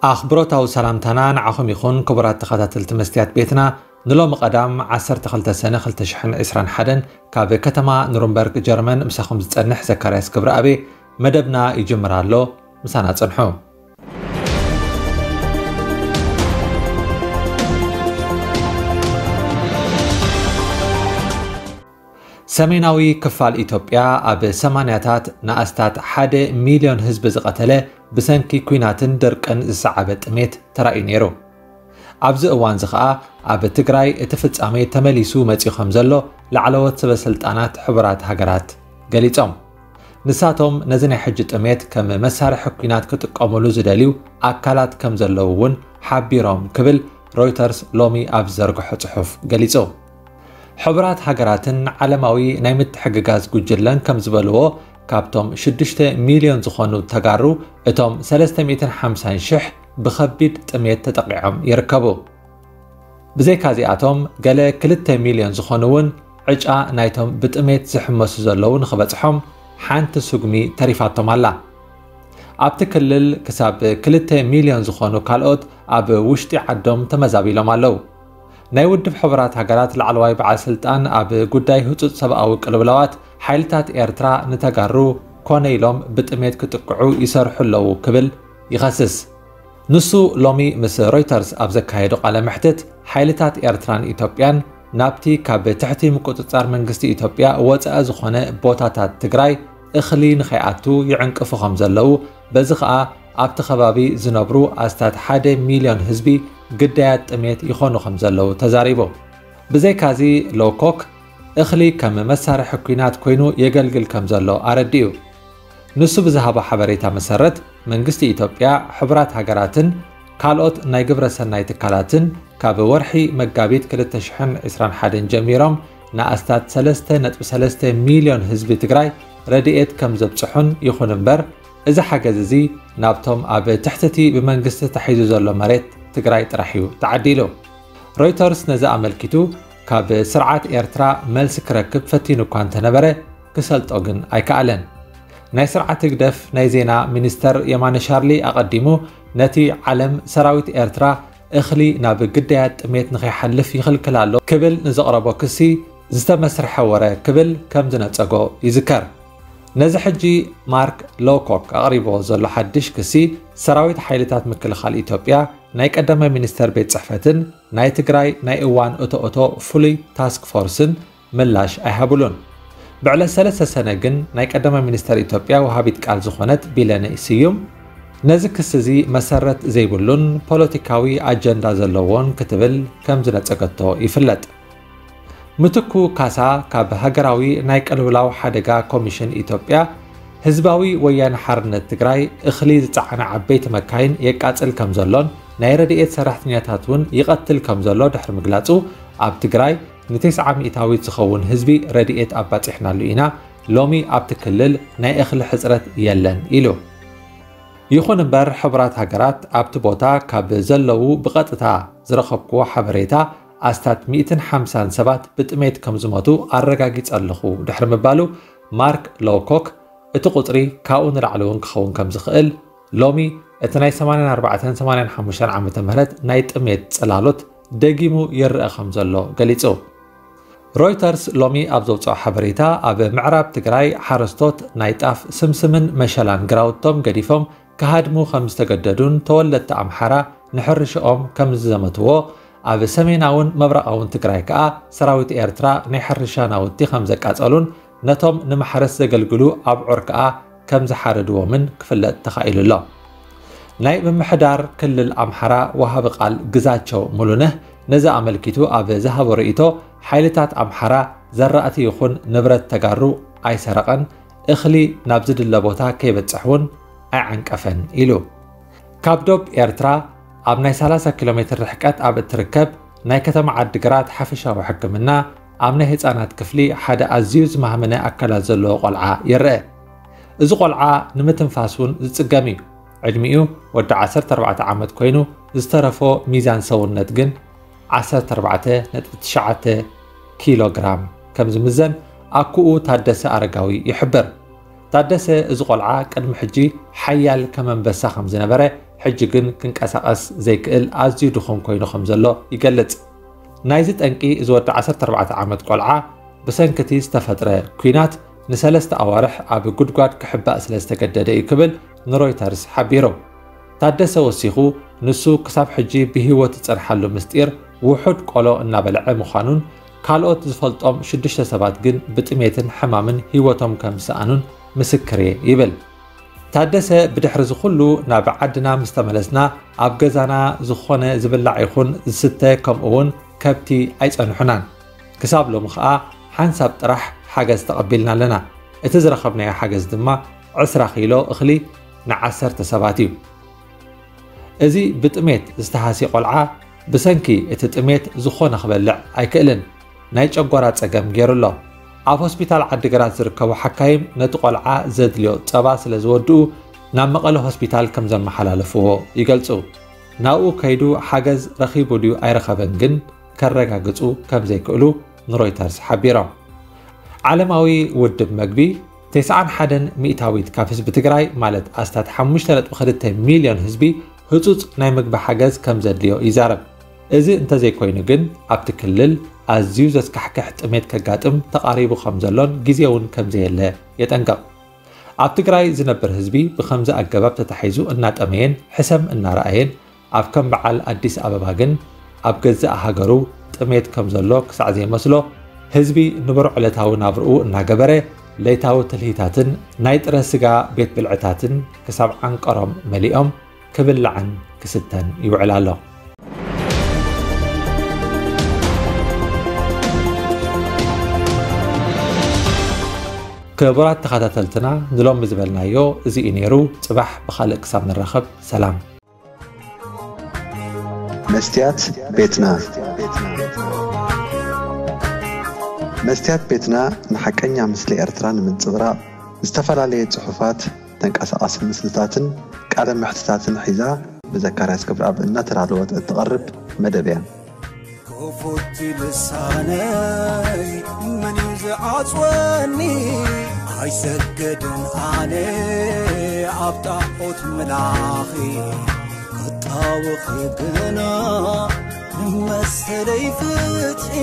ኣኽብሮታዊ ሰላምታና ንዓኹም ይኹን፣ ክቡራት ተኸታተልቲ መስትያት ቤትና። ንሎሚ ቀዳም ዓሰርተ ክልተ ሰነ ክልተ ሽሕን ዕስራን ሓደን ካብ ከተማ ኑርንበርግ ጀርመን ምሳኹም ዝጸንሕ ዘካርያስ ክብረኣብ። መደብና ይጅምር ኣሎ፣ ምሳና ጽንሑ። ሰሜናዊ ክፋል ኢትዮጵያ ኣብ ሰማንያታት ንኣስታት ሓደ ሚልዮን ህዝቢ ዝቐተለ፣ ብሰንኪ ኲናትን ድርቅን ዝሰዓበ ጥሜት ተራእዩ ነይሩ። ኣብዚ እዋንዚ ኸኣ ኣብ ትግራይ እቲ ፍጻሜ ተመሊሱ መጺኡ ከም ዘሎ ላዕለዎት ሰበ ስልጣናት ሕቡራት ሃገራት ገሊጾም። ንሳቶም ነዚ ናይ ሕጂ ጥሜት ከም መሳርሒ ኲናት ክጥቀሙሉ ዝደልዩ ኣካላት ከም ዘለዉ እውን ሓቢሮም ክብል ሮይተርስ ሎሚ ኣብ ዝዘርግሖ ጽሑፍ ገሊጹ። ሕቡራት ሃገራትን ዓለማዊ ናይ ምትሕግጋዝ ጉጅለን ከም ዝበልዎ፣ ካብቶም ሽዱሽተ ሚልዮን ዝኾኑ ተጋሩ፣ እቶም ሰለስተ ሚእትን ሓምሳን ሽሕ ብኸቢድ ጥሜት ተጠቒዖም ይርከቡ። ብዘይካዚኣቶም፣ ገለ ክልተ ሚልዮን ዝኾኑ እውን ዕጫ ናይቶም ብጥሜት ዝሕመሱ ዘለዉ ንኽበጽሖም ሓንቲ ስጉሚ ተሪፋቶም ኣላ። ኣብቲ ክልል ክሳብ ክልተ ሚልዮን ዝኾኑ ካልኦት ኣብ ውሽጢ ዓዶም ተመዛቢሎም ኣለዉ። ናይ ውድብ ሕቡራት ሃገራት ላዕለዋይ በዓል ስልጣን ኣብ ጉዳይ ህጹጽ ሰብኣዊ ቅልውላዋት፣ ሓይልታት ኤርትራ ንተጋሩ ኮነ ኢሎም ብጥሜት ክጥቅዑ ይሰርሑ ኣለዉ ክብል ይኸስስ። ንሱ ሎሚ ምስ ሮይተርስ ኣብ ዘካየዶ ቃለ መሕትት፣ ሓይልታት ኤርትራን ኢትዮጵያን ናብቲ ካብ ትሕቲ ምቁጽጻር መንግስቲ ኢትዮጵያ ወጻኢ ዝኾነ ቦታታት ትግራይ እኽሊ ንኸይኣቱ ይዕንቅፉ ከም ዘለዉ፣ በዚ ኸኣ ኣብቲ ከባቢ ዝነብሩ ኣስታት ሓደ ሚልዮን ህዝቢ ግዳያት ጥሜት ይኾኑ ከም ዘለዉ ተዛሪቡ። ብዘይካዚ፣ ሎኮክ እኽሊ ከም መሳርሒ ኲናት ኮይኑ የገልግል ከም ዘሎ ኣረዲኡ። ንሱ ብዝሃቦ ሓበሬታ መሰረት፣ መንግስቲ ኢትዮጵያ፣ ሕቡራት ሃገራትን ካልኦት ናይ ግብረ ሰናይ ትካላትን ካብ ወርሒ መጋቢት ክልተ ሽሕን ዕስራን ሓደን ጀሚሮም ንኣስታት ሰለስተ ነጥቢ ሰለስተ ሚልዮን ህዝቢ ትግራይ ረድኤት ከም ዘብጽሑን፣ ይኹን እምበር፣ እዚ ሓገዝ እዚ ናብቶም ኣብ ትሕቲ እቲ ብመንግስቲ ተታሒዙ ዘሎ መሬት ትግራይ ጥራሕ እዩ ተዓዲሉ። ሮይተርስ ነዚ ኣመልኪቱ፣ ካብ ስርዓት ኤርትራ መልሲ ክረክብ ፈቲኑ እኳ እንተነበረ፣ ክሰልጦ ግን ኣይከኣለን። ናይ ስርዓት ህግደፍ ናይ ዜና ሚኒስተር የማነ ሻርሊ ኣቐዲሙ፣ ነቲ ዓለም ሰራዊት ኤርትራ እኽሊ ናብ ግዳያት ጥሜት ንኸይሓልፍ ይኽልክል ኣሎ ክብል ንዘቕረቦ ክሲ ዝተመስርሐ ወረ ክብል ከም ዝነጸጎ ይዝከር። ነዚ ሕጂ ማርክ ሎኮክ ኣቕሪብዎ ዘሎ ሓድሽ ክሲ፣ ሰራዊት ሓይልታት ምክልኻል ኢትዮጵያ፣ ናይ ቀዳማይ ሚኒስተር ቤት ጽሕፈትን ናይ ትግራይ ናይ እዋን እቶ እቶ ፍሉይ ታስክ ፎርስን ምላሽ ኣይሃብሉን። ብዕለት ሰለስተ ሰነ ግን ናይ ቀዳማይ ሚኒስተር ኢትዮጵያ ወሃቢት ቃል ዝኾነት ቢለነ ስዩም፣ ነዚ ክሲ እዚ መሰረት ዘይብሉን ፖለቲካዊ ኣጀንዳ ዘለዎን ክትብል ከም ዝነጸገቶ ይፍለጥ። ምትኩ ካሳ ካብ ሃገራዊ ናይ ቅልውላው ሓደጋ ኮሚሽን ኢትዮጵያ፣ ህዝባዊ ወያነ ሓርነት ትግራይ እኽሊ ዝጸዓና ዓበይቲ መካይን የቃጽል ከም ዘሎን ናይ ረድኤት ሰራሕተኛታት እውን ይቐትል ከም ዘሎ ድሕሪ ምግላጹ፣ ኣብ ትግራይ ንተስዓ ሚእታዊት ዝኸውን ህዝቢ ረድኤት ኣባጺሕናሉ ኢና፣ ሎሚ ኣብቲ ክልል ናይ እኽሊ ሕጽረት የለን ኢሉ። ይኹን እምበር፣ ሕቡራት ሃገራት ኣብቲ ቦታ ካብ ዘለዉ ብቐጥታ ዝረኸብክዎ ሓበሬታ፣ ኣስታት ሚእትን ሓምሳን ሰባት ብጥሜት ከም ዝሞቱ ኣረጋጊጸ ኣለኹ ድሕሪ ምባሉ፣ ማርክ ሎውኮክ፣ እቲ ቁጽሪ ካብኡ ንላዕሊ እውን ክኸውን ከም ዝኽእል፣ ሎሚ እቲ ናይ ሰማንያን ኣርባዕተን ሰማንያን ሓሙሽተን ዓመተ ምህረት ናይ ጥሜት ጽላሎት ደጊሙ ይረኣ ከም ዘሎ ገሊጹ። ሮይተርስ ሎሚ ኣብ ዘውጽኦ ሓበሬታ፣ ኣብ ምዕራብ ትግራይ ሓረስቶት ናይ ጣፍ ስምስምን መሸላን ግራውቶም ገዲፎም ክሃድሙ ከም ዝተገደዱን ተወለድቲ ኣምሓራ ንሕርሽኦም ከም ዝዘመትዎ፣ ኣብ ሰሜናውን ምብራቓውን ትግራይ ከኣ ሰራዊት ኤርትራ ናይ ሕርሻ ናውቲ ከም ዘቃጸሉን ነቶም ንማሕረስ ዘገልግሉ ኣብዑር ከኣ ከም ዝሓረድዎምን ክፍለጥ ተኻኢሉ ኣሎ። ናይ ምምሕዳር ክልል ኣምሓራ ወሃቢ ቃል ግዛቸው ሙሉነህ ነዚ ኣመልኪቱ ኣብ ዝሃቦ ርእይቶ፣ ሓይልታት ኣምሓራ ዘራእቲ ይኹን ንብረት ተጋሩ ኣይሰረቐን፣ እኽሊ ናብ ዝድለ ቦታ ከይበጽሕ እውን ኣይዓንቀፈን ኢሉ። ካብ ዶብ ኤርትራ ኣብ ናይ ሰላሳ ኪሎ ሜትር ርሕቀት ኣብ እትርከብ ናይ ከተማ ዓዲግራት ሓፈሻዊ ሕክምና ኣብ ናይ ህፃናት ክፍሊ ሓደ ኣዝዩ ዝማህመነ ኣካላት ዘለዎ ቆልዓ ይረአ። እዚ ቆልዓ ንምትንፋስ እውን ዝፅገም እዩ። ዕድሚኡ ወዲ ዓሰርተ ኣርባዕተ ዓመት ኮይኑ ዝተረፎ ሚዛን ሰውነት ግን ዓሰርተ ኣርባዕተ ነጥቢ ትሽዓተ ኪሎ ግራም ከም ዝምዘን ኣኩኡ ታደሰ ኣረጋዊ ይሕብር። ታደሰ እዚ ቆልዓ ቅድሚ ሕጂ ሓያል ከም ኣንበሳ ከም ዝነበረ፣ ሕጂ ግን ክንቀሳቐስ ዘይክእል ኣዝዩ ድኹም ኮይኑ ከም ዘሎ ይገልጽ። ናይዚ ጠንቂ እዚ ወዲ ዓሰርተ ኣርባዕተ ዓመት ቆልዓ ብሰንኪ እቲ ዝተፈጥረ ኲናት ንሰለስተ ኣዋርሕ ኣብ ጉድጓድ ክሕባእ ስለ ዝተገደደ እዩ ክብል ንሮይተርስ ሓቢሩ። ታደሰ ወሲኹ፣ ንሱ ክሳብ ሕጂ ብህይወት ዝጸንሓሉ ምስጢር ውሑድ ቆሎ እናበልዐ ምዃኑን ካልኦት ዝፈልጦም ሽዱሽተ ሰባት ግን ብጥሜትን ሕማምን ህይወቶም ከም ዝሰኣኑን ምስክር እየ ይብል። ታደሰ ብድሕሪ እዚ ኩሉ ናብ ዓድና ምስ ተመለስና ኣብ ገዛና ዝኾነ ዝብላዕ ይኹን ዝስተ ከምኡ እውን ከብቲ ኣይጸንሑናን። ክሳብ ሎሚ ኸኣ ሓንሳብ ጥራሕ ሓገዝ ተቐቢልና ኣለና። እቲ ዝረኸብናዮ ሓገዝ ድማ ዕስራ ኪሎ እኽሊ ንዓሰርተ ሰባት እዩ። እዚ ብጥሜት ዝተሃስየ ቆልዓ ብሰንኪ እቲ ጥሜት ዝኾነ ክበልዕ ኣይክእልን። ናይ ጨጓራ ጸገም ገይሩ ኣሎ። ኣብ ሆስፒታል ዓዲግራት ዝርከቡ ሓካይም ነቲ ቆልዓ ዘድልዮ ጸባ ስለ ዝወድኡ ናብ መቐለ ሆስፒታል ከም ዘመሓላለፍዎ ይገልጹ። ናብኡ ከይዱ ሓገዝ ረኺቡ ድዩ ኣይረኸበን ግን ከረጋግጹ ከም ዘይክእሉ ንሮይተርስ ሓቢሮም። ዓለማዊ ውድብ መግቢ ተስዓን ሓደን ሚእታዊት ካብ ህዝቢ ትግራይ ማለት ኣስታት ሓሙሽተ ነጥቢ ክልተ ሚልዮን ህዝቢ ህጹጽ ናይ ምግቢ ሓገዝ ከም ዘድልዮ ይዛረብ። እዚ እንተዘይኮይኑ ግን ኣብቲ ክልል ኣዝዩ ዘስካሕክሕ ጥሜት ከጋጥም ተቓሪቡ ከም ዘሎን ግዜ እውን ከም ዘየለ የጠንቅቕ። ኣብ ትግራይ ዝነብር ህዝቢ ብኸምዚ ኣገባብ ተታሒዙ እናጠመየን ሕሰም እናረኣየን ኣብ ከም በዓል ኣዲስ ኣበባ ግን ኣብ ገዛእ ሃገሩ ጥሜት ከም ዘሎ ክሳዕ ዘይመስሎ ህዝቢ ንቡር ዕለታዊ ናብርኡ እናገበረ ለይታዊ ትልሂታትን ናይ ጥረ ስጋ ቤት ብልዕታትን ክሳብ ዓንቀሮም መሊኦም ክብላዕን ክስተን ይውዕል ኣሎ። ክቡራት ተኸታተልትና ንሎሚ ዝበልናዮ እዚ እዩ ነይሩ። ጽባሕ ብኻልእ ክሳብ ንራኸብ ሰላም። መስትያት ቤትና። መስትያት ቤትና ንሓቀኛ ምስሊ ኤርትራ ንምንጽብራቕ ዝተፈላለየ ጽሑፋት፣ ተንቀሳቓሲ ምስልታትን ቃለ መሕትታትን ሒዛ ብዘካርያስ ክብረኣብ እናተዳለወት እትቐርብ መደብ እያ። ክፉት ልሳነይ መን እዩ ዝዓጽወኒ? ኣይሰግድን ኣነ ኣብ ጣዖት ምላኺ፣ ክጣወኺ ግና ንመሰለይ ፍትሒ።